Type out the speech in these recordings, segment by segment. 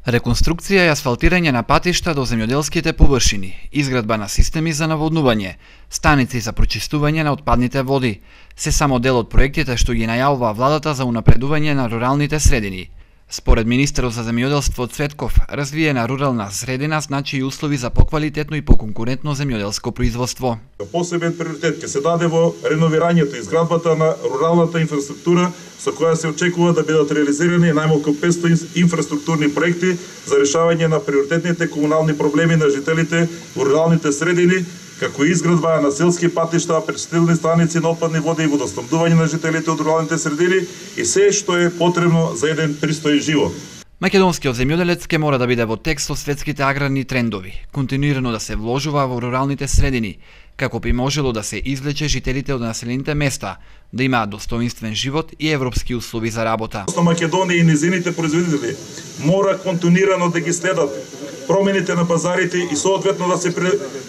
Реконструкција и асфалтирање на патишта до земјоделските површини, изградба на системи за наводнување, станици за прочистување на отпадните води, се само дел од проектите што ги најавува владата за унапредување на руралните средини. Според министерот за земјоделство Цветков, развиена рурална средина значи и услови за поквалитетно и поконкурентно земјоделско производство. Посебен приоритет ќе се даде во реновирањето и изградбата на руралната инфраструктура, со која се очекува да бидат реализирани најмалку 500 инфраструктурни проекти за решавање на приоритетните комунални проблеми на жителите во руралните средини, како и изградба на селски патишта, пречистилни станици на отпадни води и водоснабдување на жителите од руралните средини и се што е потребно за еден пристоен живот. Македонскиот земјоделец ке мора да биде во текст со светските аграрни трендови, континуирано да се вложува во руралните средини, како би можело да се извлече жителите од населените места, да имаат достоинствен живот и европски услови за работа. Македонија и низините производители мора континуирано да ги следат промените на пазарите и соодветно да се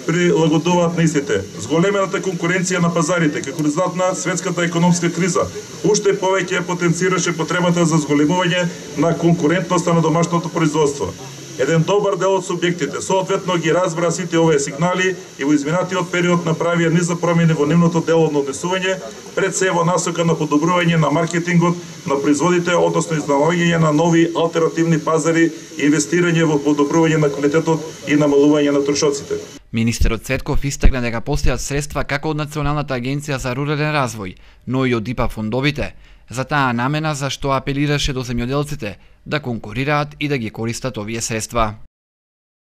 прилагодуваат на истите. Зголемената конкуренција на пазарите како резултат на светската економска криза уште повеќе потенцираше потребата за зголемување на конкурентноста на домашното производство. Еден добар дел од субјектите соодветно ги разбра сите овие сигнали и во изминатиот период направија низ промени во нивното дело на однесување, пред се во насока на подобрување на маркетингот на производите, односно изнаоѓање на нови алтернативни пазари и инвестирање во подобрување на квалитетот и намалување на трошоците. Министерот Цветков истакна дека постојат средства како од Националната агенција за рурален развој, но и од ИПА фондовите, за таа намена за што апелираше до земјоделците да конкурираат и да ги користат овие средства.